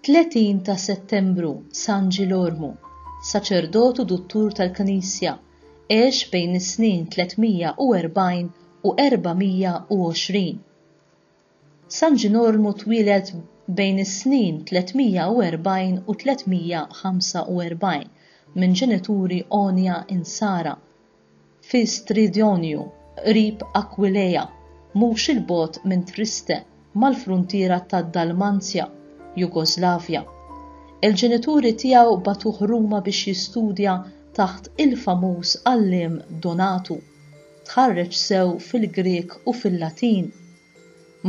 30 ta' Settembru, San Ġilormu, saċerdot u duttur tal-Knisja, għex bejn is-snin 340 u 420. San Ġinormu twieled bejn is-snin 340 u 345 minn ġenituri għonja Insara fi Stridionju, qrib Aquileia, mhux 'il bogħod minn Triste, mal-fruntiera tad-Dalmanzja, Jugoslavja. Il-ġenituri tiegħu bagħtuh Ruma biex jistudja taħt il-famuż għalliem Donatu. Tħarreġ sew fil-Grieg u fil-Latin.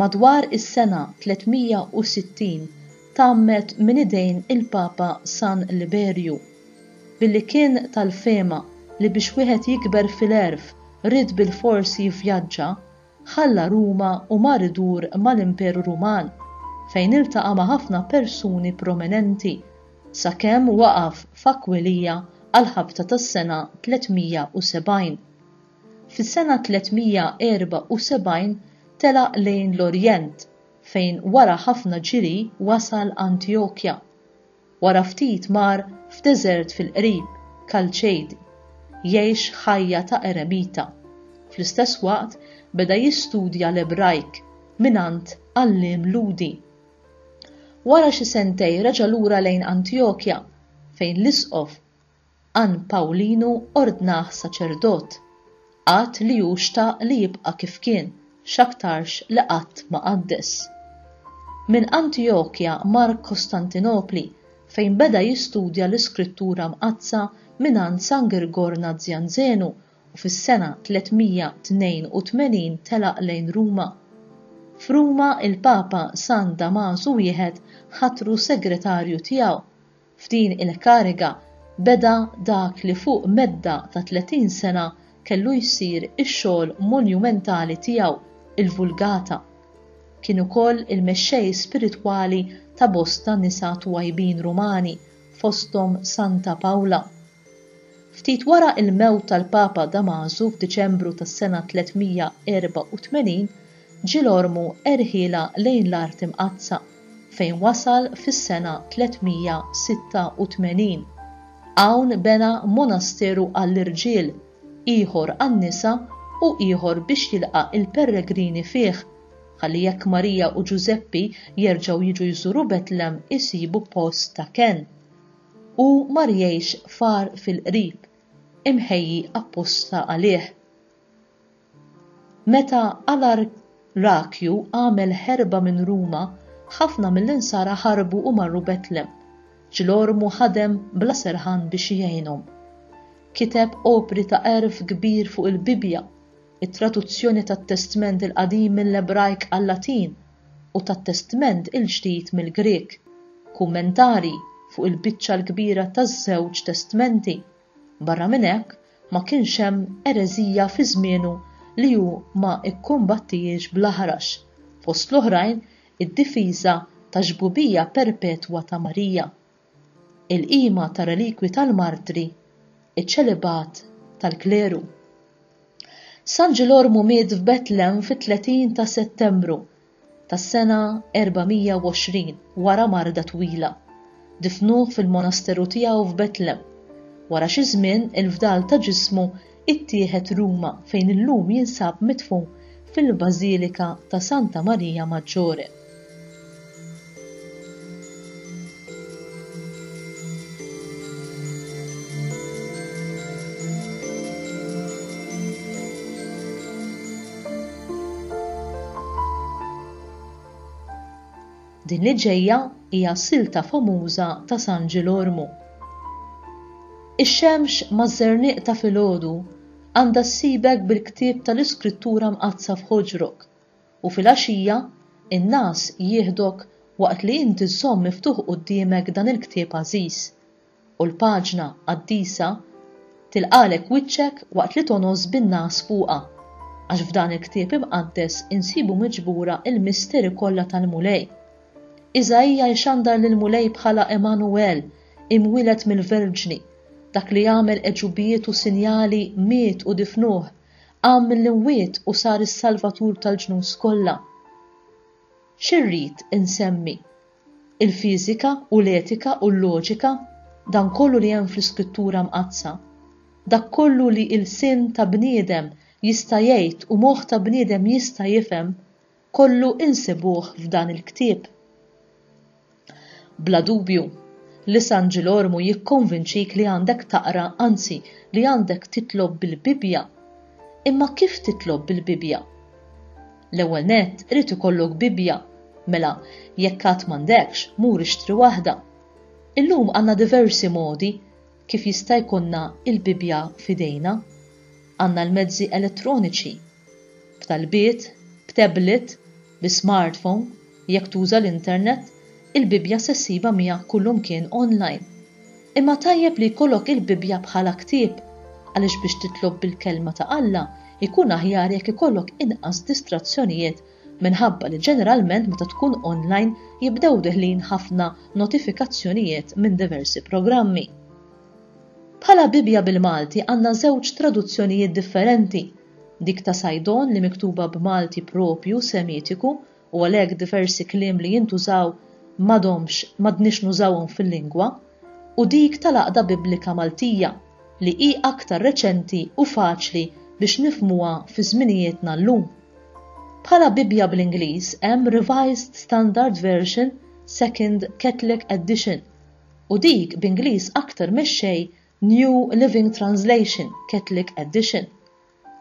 Madwar is-sena 360 tgħammed minn idejn il-Papa San Liberju. Billi kien tal-fehma li biex wieħed jikber fil-għerf ried bilfors jivvjaġġa, ħalla Ruma u mar idur mal-Imperu Ruman, fejn iltaqa' ma' ħafna persuni prominenti, sakemm waqaf f'Aquileia għall-ħabta tas-sena 370. Fis-sena 374 telaq lejn l-Orjent fejn wara ħafna ġiri wasal Antjokja. Wara ftit mar f'deżert fil-qrib, Kalċejdi, jgħix ħajja ta' eremita. Fl-istess waqt beda jistudja l-Ebrajk mingħand għalliem Lhudi. Wara xi sentej reġa' lura lejn Antjokja fejn l-isqof Ann Pawlinu ordnah saċerdot, għad li hu xtaq li jibqa' kif kien, x'aktarx li qatt ma qaddes. Minn Antijokja mar Kostantinopli fejn beda jistudja l-Iskrittura Mqaddsa mingħand San Girgor Nazjanzenu u fis-sena 382 telaq lejn Ruma. F'Ruma il-Papa San Damasu wieħed ħatru segretarju tiegħu. F'din il-kariga beda dak li fuq medda ta' 30 sena kellu jsir ix-xogħol monumentali tiegħu, il-Vulgata. Kien ukoll il-mexxej spiritwali ta' bosta nisa twajbin Rumani, fosthom Santa Pawla. Ftit wara l-mewt tal-Papa Damasu f'Diċembru tas-sena 384, Ġilormu erħielha lejn l-Art Imqaddsa, fejn wasal fis-sena 386. Hawn bena monasteru għall-irġiel, ieħor għan-nisa u ieħor biex jilqa' l-pellegrini fih, ħalli jekk Marija u Ġużeppi jerġgħu jiġu jżuru Betlem isibu post ta' kenn. Hu mar jgħix f'għar fil-qrib, imħejji apposta għalih. Meta Alarrakju għamel ħerba minn Ruma, ħafna mill-Insara ħarbu u marru Betlem. Ġlormu ħadem bla serħan biex jgħinhom. Kiteb opri ta' għerf kbir fuq il-Bibbja, it-traduzzjoni tat-Testment il-Qadim mill-Ebrajk għal-Latin u tat-Testment il-Ġdid mill-Grieg, kummentarji fuq il-biċċa l-kbira taż-żewġ Testmenti. Barra minn hekk, ma kienx hemm ereżija fi żmienu li hu ma kkumbattihiex bl-aħrax, fost l-oħrajn id-difiża tax-xbubija perpetwa ta' Marija, il-qima tar-relikwi tal-martri, iċ-ċelibat tal-kleru. San Ġilormu miet f'Betlem fit-30 ta' Settembru tas-sena 420 wara marda twila. Difnuh fil-monasteru tiegħu f'Betlem. Wara xi żmien il-fdal ta' ġismu ittieħed Ruma fejn illum jinsab midfun fil-Bażilika ta' Santa Maria Maggiore. Din li ġejja hija silta famuża ta' San Ġilormu. Ix-xemx maż-żerniq ta' filgħodu għandha ssibek bil-ktieb tal-Iskrittura Mqaddsa f'ħoġrok, u filgħaxija in-ngħas jieħdok waqt li inti żżomm miftuħ quddiemek dan il-ktieb għażiż. U l-paġna qaddisa tilqagħlek wiċċek waqt li tongħos bin-ngħas fuqha, għax f'dan il-ktieb imqaddes insibu miġbura l-misteri kollha tal-Mulej. Iżaija jxandar lill-Mulej bħala Emmanuel, imwieled mill-Verġni, dak li għamel għeġubijiet u sinjali miet u difnuh, qam mill-imwiet u sar is-Salvatur tal-ġnus kollha. Xi rrid insemmi? Il-fiżika u l-etika u l-loġika, dan kollu li hemm fl-Iskrittura Mqaddsa, dak kollu li ilsien ta' bniedem jista' jgħid u moħħ ta' bniedem jista' jifhem, kollu insibuh f'dan il-ktieb. Bla dubju, li San Ġilormu jikkonvinċik li għandek taqra, anzi, li għandek titlob bil-Bibbja. Imma kif titlob bil-Bibbja? L-ewwel nett irid ikollok Bibbja, mela jekk għad m'għandekx, mur ixtri waħda. Illum għandna diversi modi kif jista' jkollna l-Bibbja f'idejna. Għandna l-mezzi elettroniċi, b'talbiet, b'tablet, bi smartphone, jekk tuża l-internet, il-Bibbja se ssibha miegħek kullumkien online. Imma tajjeb li jkollok il-Bibbja bħala ktieb, għaliex biex titlob bil-Kelma ta' Alla jkun aħjar jekk ikollok inqas distrazzjonijiet minħabba li ġeneralment meta tkun online jibdew deħlin ħafna notifikazzjonijiet minn diversi programmi. Bħala Bibbja bil-Malti għandna żewġ traduzzjonijiet differenti, dik ta' Saydon li miktuba b'Malti proprju Semitiku u għalhekk diversi kliem li jintużaw m'għadhomx m'għadniex nużawhom fil-lingwa, u dik tal-Għaqda Biblika Maltija li hi aktar reċenti u faċli biex nifhmuha fi żminijietna llum. Bħala Bibbja bl-Ingliż hemm Revised Standard Version Second Catholic Edition u dik b'Ingliż aktar mexxej New Living Translation Catholic Edition.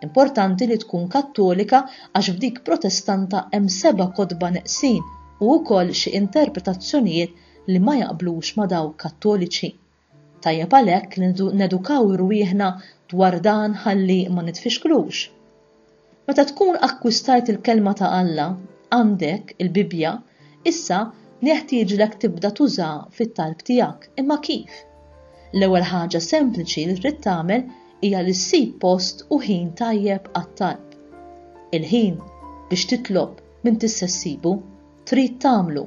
Importanti li tkun Kattolika għax f'dik Protestanta hemm seba' kotba neqsin u wkoll xi interpretazzjonijiet li ma jaqblux ma' dawk Kattoliċi. Tajjeb għalhekk li nedukaw rwieħna dwar dan ħalli ma nitfixklux. Meta tkun akkwistajt il-Kelma ta' Alla, għandek, il-Bibbja, issa neħtieġlek tibda tużaha fit-talb tiegħek. Imma kif? L-ewwel ħaġa sempliċi li trid tagħmel hija li ssib post u ħin tajjeb għat-talb. Il-ħin biex titlob m'intix se ssibu, trid tagħmlu.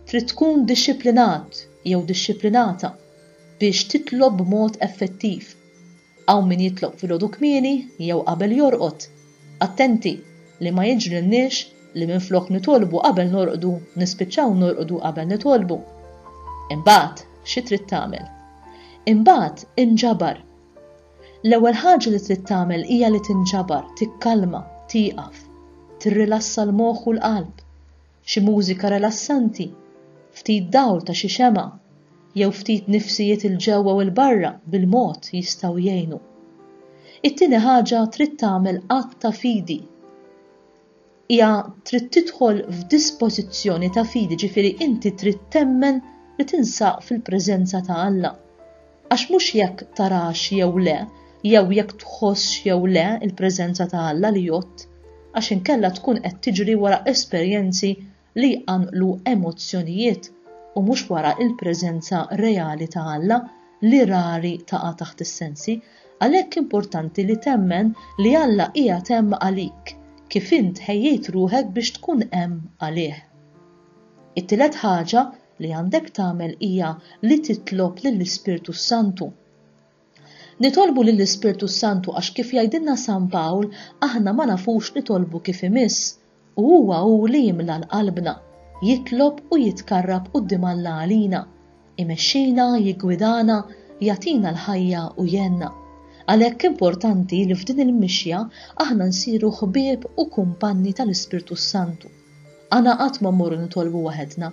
Trid tkun dixxiplinat jew dixxiplinata biex titlob b'mod effettiv. Hawn min jitlob filgħodu kmieni jew qabel jorqod. Attenti li ma jiġrilniex li minflok nitolbu qabel norqdu nispiċċaw norqdu qabel nitolbu. Imbagħad xi trid tagħmel? Imbagħad inġabar. L-ewwel ħaġa li trid tagħmel hija li tinġabar, tikkalma, tieqaf, tirrilassa l-moħħ u l-qalb. Xi mużika rilassanti, ftit dawl ta' xi xemgħa, jew ftit nifsijiet 'il ġewwa u 'l barra bil-mod jistgħu jgħinu. It-tieni ħaġa trid tagħmel att ta' fidi. Hija trid tidħol f'dispożizzjoni ta' fidi, ġifieri inti trid temmen li tinsaq fil-preżenza ta' Alla. Għax mhux jekk tarax jew le, jew jekk tħossx jew le l-preżenza ta' Alla li jgħodd, għax inkella tkun qed tiġri wara esperjenzi li jqanqlu emozzjonijiet u mhux wara l-preżenza reali ta' Alla li rari taqa' taħt is-sensi. Għalhekk importanti li temmen li Alla qiegħed hemm għalik, kif int ħejjejt ruħek biex tkun hemm għalih. It-tielet ħaġa li għandek tagħmel hija li titlob lill-Ispirtu s-Santu. Nitolbu lill-Ispirtu s-Santu għax kif jgħidilna San Pawl aħna ma nafux nitolbu kif imiss u huwa hu li jimla l-qalbna, jitlob u jitkarrab quddiem Alla għalina, imexxina, jiggwidana, jagħtina l-ħajja u jgħinna. Għalhekk importanti li f'din il-mixja aħna nsiru ħbieb u kumpanni tal-Ispirtu s-Santu. Aħna qatt ma mmorru nitolbu waħedna,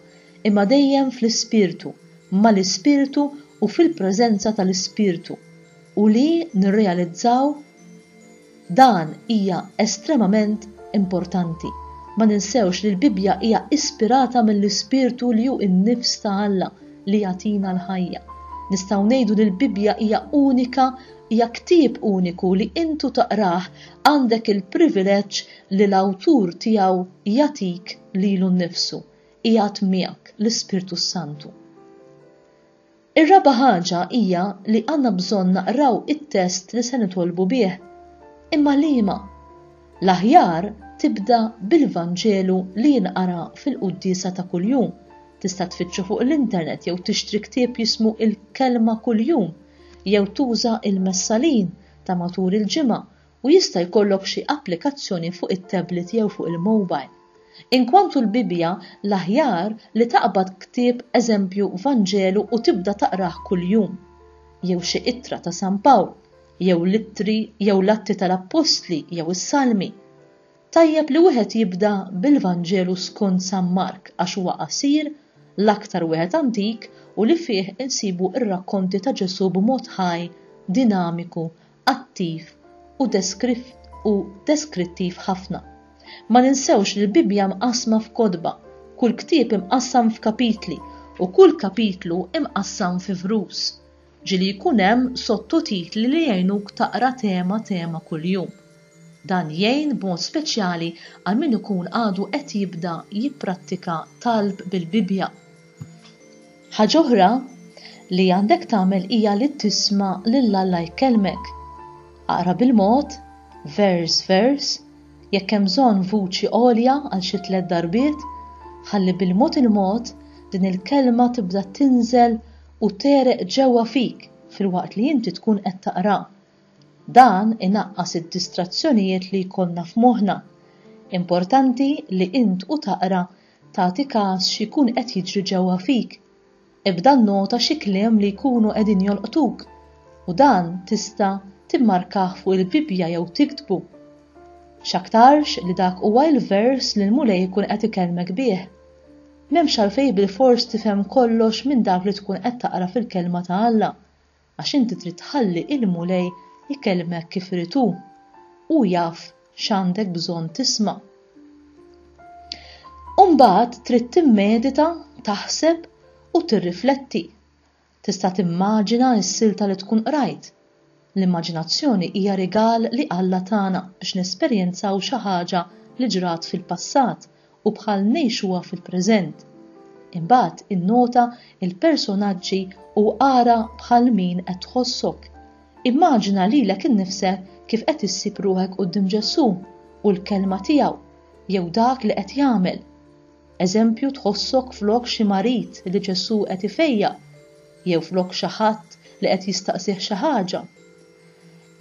imma dejjem fl-Ispirtu, mal-Ispirtu u fil-preżenza tal-Ispirtu, u li nirrealizzaw dan hija estremament importanti. Ma ninsewx li l-Bibbja hija ispirata mill-Ispirtu li hu n-nifs ta' Alla li jagħtina l-ħajja. Nistgħu ngħidu li l-Bibbja hija unika, hija ktieb uniku li intu taqrah għandek il-privileġġ li l-awtur tiegħu jagħtik lilu nnifsu, qiegħed miegħek, l-Ispirtu s-Santu. Ir-raba' ħaġa hija li għandna bżonn naqraw it-test li se nitolbu bih. Imma liema? L-aħjar tibda bil-Vanġelu li jinqara fil-quddiesa ta' kuljum. Tista' tfittxu fuq l-internet jew tixtri ktieb jismu Il-Kelma Kuljum jew tuża il-Messalin ta' matul il-ġimgħa u jista' jkollok xi applikazzjoni fuq it-tablet jew fuq il-mobile. Inkwantu l-Bibbja, l-aħjar li taqbad ktieb eżempju Vanġelu u tibda taqrah kuljum, jew xi ittra ta' San Pawl, jew l-ittri jew l-Atti tal-Appostli jew is-Salmi. Tajjeb li wieħed jibda bil-Vanġelu skont San Mark għax huwa qasir, l-aktar wieħed antik u li fih insibu r-rakkonti ta' Ġesù b'mod ħaj, dinamiku, attiv u u deskrittiv ħafna. Ma ninsewx li l-Bibbja mqassma f'kotba, kull ktieb imqassam f'kapitli u kull kapitlu imqassam fi vrus. Ġieli jkun hemm sottotitli li jgħinuk taqra tema tema kuljum. Dan jgħin b'mod speċjali għal min ikun għadu qed jibda jipprattika talb bil-Bibbja. Ħaġa oħra li għandek tagħmel hija li tisma' lil Alla jkellmek. Aqra bil-mod, vers vers, jekk hemm bżonn vuċi għolja għal xi tlett darbiet, ħalli bil-mod il-mod din il-kelma tibda tinżel u tegħreq ġewwa fik filwaqt li inti tkun qed taqra. Dan inaqqas id-distrazzjonijiet li jkollna f'moħħna. Importanti li int u taqra tagħti kas x'ikun qed jiġri ġewwa fik. Ibda nnota xi kliem li jkunu qegħdin jolqtuk u dan tista' timmarkah fuq il-Bibbja jew tiktbu. X'aktarx li dak huwa l-vers li l-Mulej ikun qed ikellmek bih. M'hemmx għalfejn bilfors tifhem kollox minn dak li tkun qed taqra fil-Kelma ta' Alla, għax inti trid tħalli il-Mulej ikellmek kif irid hu. Hu jaf x'għandek bżonn tisma'. U mbagħad trid timmedita, taħseb u tirrifletti. Tista' timmaġina s-silta li tkun qrajt. L-immaġinazzjoni hija rigal li Alla tana biex nesperjenzaw xi ħaġa li ġrat fil-passat u bħal ngħixuha fil-preżent. Imbagħad innota l-personaġġi u ara bħal min qed tħossok. Immaġina lilek innifsek kif qed issib ruħek quddiem Ġesù u l-kelma tiegħu jew dak li qed jagħmel. Eżempju tħossok flok xi marid li Ġesù qed ifejjaq jew flok xi ħadd li qed jistaqsih xi ħaġa.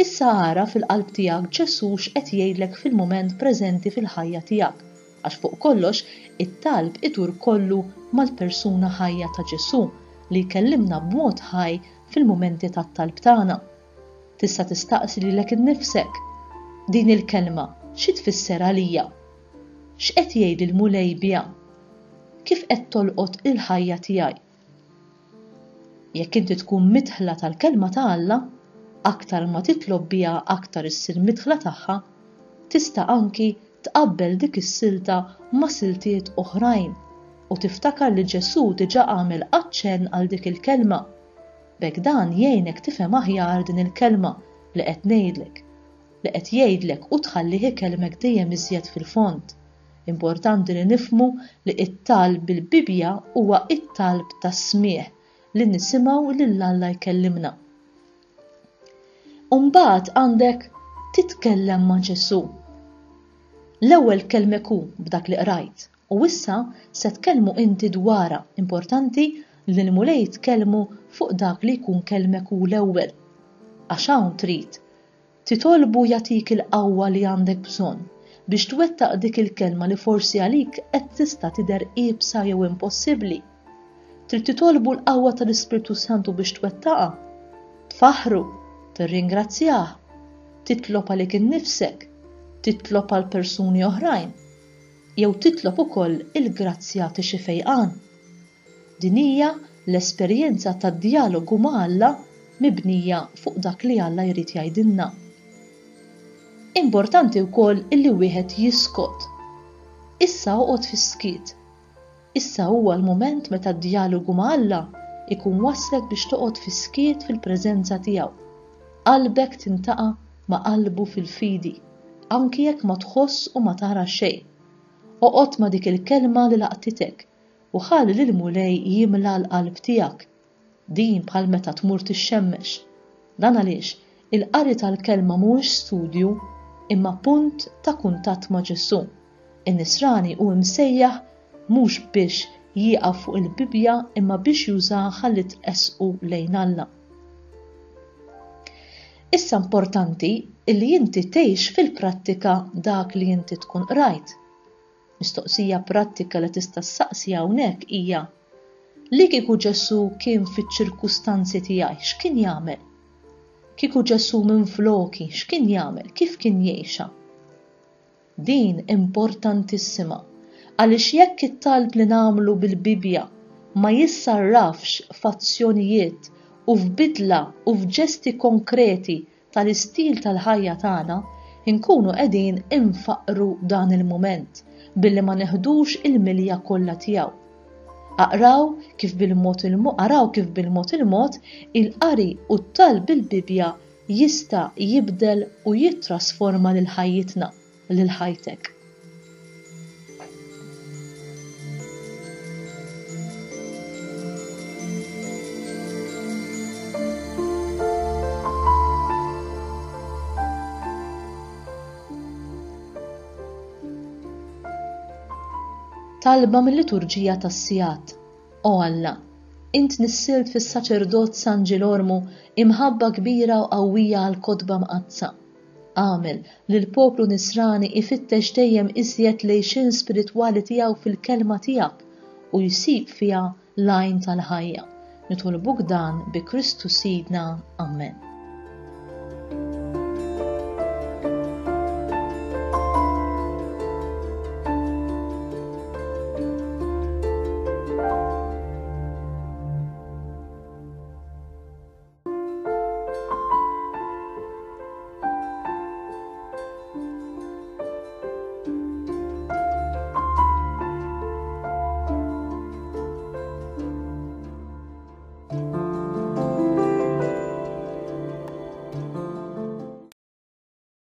Issa ara fil-qalb tiegħek Ġesù x'qed jgħidlek fil-mument preżenti fil-ħajja tiegħek, għax fuq kollox it-talb idur kollu mal-persuna ħajja ta' Ġesù li jkellimna b'mod ħaj fil-mumenti tat-talb tagħna. Tista' tistaqsi lilek innifsek, Din il-kelma xi tfisser għalija? X'qed jgħidli l-Mulej biha? Kif qed tolqot il-ħajja tiegħi? Jekk inti tkun midħla tal-Kelma ta' Alla, aktar ma titlob biha aktar issir midħla tagħha, tista' anki tqabbel dik is-silta ma' siltiet oħrajn u tiftakar li Ġesù diġà għamel aċċenn għal dik il-kelma. B'hekk dan jgħinek tifhem aħjar din il-kelma li qed ngħidlek li qed jgħidlek u tħallih ikellmek dejjem iżjed fil-fond. Importanti li nifhmu li t-talb bil-Bibbja huwa t-talb tas-smigħ li nisimgħu lil Alla jkellimna. U mbagħad għandek titkellem ma' Ġesù. L-ewwel kellmek hu b'dak li qrajt u issa se tkellmu inti dwarha. Importanti li l-Mulej tkellmu fuq dak li jkun kellmek hu l-ewwel. Għax hawn trid Titolbu jagħtik il-qawwa li għandek bżonn biex twettaq dik il-kelma li forsi għalik qed tista' tidher iebsa jew impossibbli. Trid titolbu l-qawwa tal-Ispirtu Santu biex twettaqha. Tfaħħru, tirringrazzjah, titlob għalik innifsek, titlob għal persuni oħrajn, jew titlob ukoll il-grazzja ta' xi fejqan. Din hija l-esperjenza tad-djalogu ma' Alla mibnija fuq dak li Alla jrid jgħidilna. Importanti wkoll illi wieħed jiskot. Issa oqgħod fis-skiet. Issa huwa l-mument meta d-djalogu ma' Alla jkun wasslek biex toqgħod fis-skiet fil-preżenza tiegħu. Qalbek tintaqa' ma' qalbu fil-fidi, anki jekk ma tħoss u ma tara xejn. Oqgħod ma' dik il-kelma li laqtitek u ħalli lill-Mulej jimla l-qalb tiegħek. Din bħal meta tmur tixxemmex. Dan għaliex il-qari tal-Kelma mhuwiex studju imma punt ta' kuntatt ma' Ġesù. In-Nisrani hu imsejjaħ mhux biex jieqaf fuq il-Bibbja imma biex jużaha ħalli tressqu lejn Alla. Issa importanti li inti tgħix fil-prattika dak li inti tkun qrajt. Mistoqsija prattika li tista' ssaqsi hawnhekk hija, Li kieku Ġesù kien fiċ-ċirkustanzi tiegħi, x'kien jagħmel? Kieku Ġesù minfloki, x'kien jagħmel? Kif kien jgħixha? Din importantissima, għaliex jekk it-talb li nagħmlu bil-Bibbja ma jissarrafx f'azzjonijiet u f'bidla u f'ġesti konkreti tal-istil tal-ħajja tagħna, inkunu qegħdin infaqqru dan il-mument billi ma neħdux il-milja kollha tiegħu. Aqraw kif bil-mod il araw kif bil-mod il-mod il-qari u t-talb bil-Bibbja jista' jibdel u jittrasforma lil ħajjitna, lil ħajtek. Talba mil-Liturġija tas-Sigħat O Alla, int nissilt fis-saċerdot San Ġilormu imħabba kbira u qawwija għall-Kotba Mqaddsa. Agħmel li l-poplu Nisrani ifittex dejjem iżjed l-għixien spiritwali tiegħu fil-Kelma tiegħek u jsib fiha l-għajn tal-ħajja. Nitolbuk dan bi Kristu Sidna. Amen.